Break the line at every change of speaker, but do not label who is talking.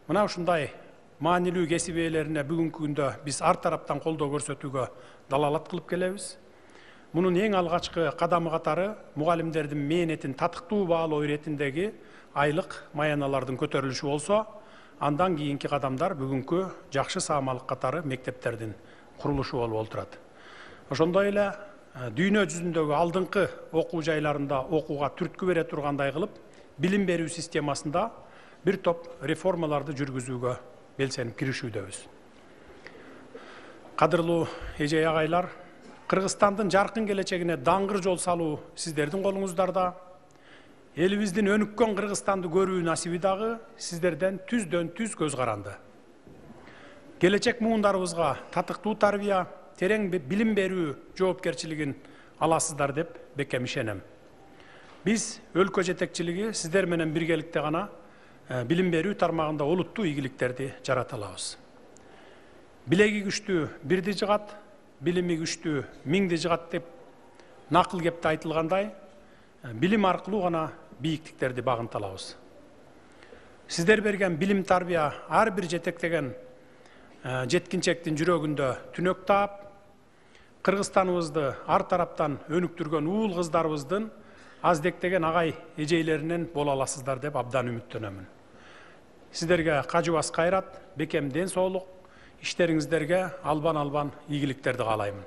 Мына ушундай маанилүү кесип ээлерине бүгүнкү күндө биз ар тараптан колдоо көрсөтүүгө далалат кылып келебиз. Мунун эң алгачкы кадамы катары мугалимдердин мээнетин татыктуу баалоо иретиндеги айлык маяналардын көтөрүлүшү болсо, андан кийинки кадамдар бүгүнкү жакшы саамалык катары мектептердин курулушу болуп отурат. Ошондой эле дүйнө жүзүндөгү алдыңкы окуу жайларында окууга түрткү бере тургандай кылып, билим берүү системасында бир топ реформаларды жүргүзүүгө белсенип киришүүдөбүз. Кадырлуу эже агайлар, Кыргызстандын жаркын келечегине даңгыр жол салуу сиздердин колуңуздарда. Элибиздин өнүккөн Кыргызстанды көрүү насиби дагы сиздерден түздөн түз көз каранды. Келечек муундарыбызга татыктуу тарбия, терең билим берүү жоопкерчилигин аласыздар деп бекем ишенем. Биз өлкө жетекчилиги сиздер менен биргеликте гана билим берүү тармагында олуттуу ийгиликтерди жарата алабыз. Билеги күчтүү бирди жыгат, билими күчтүү миңди жыгат деп накыл кепте айтылгандай, билим аркылуу гана бийиктиктерди багынта алабыз. Сиздер берген билим тарбия ар бир жетектеген жеткинчектин жүрөгүндө түнөк таап, Кыргызстаныбызды ар тараптан өнүктүргөн уул кыздарыбыздын аздектеген агай эжейлеринен боло аласыздар деп абдан үмүттөнөмүн. Сиздерге кажыбас кайрат, бекем ден соолук, иштериңиздерге албан-албан ийгиликтерди каалаймын.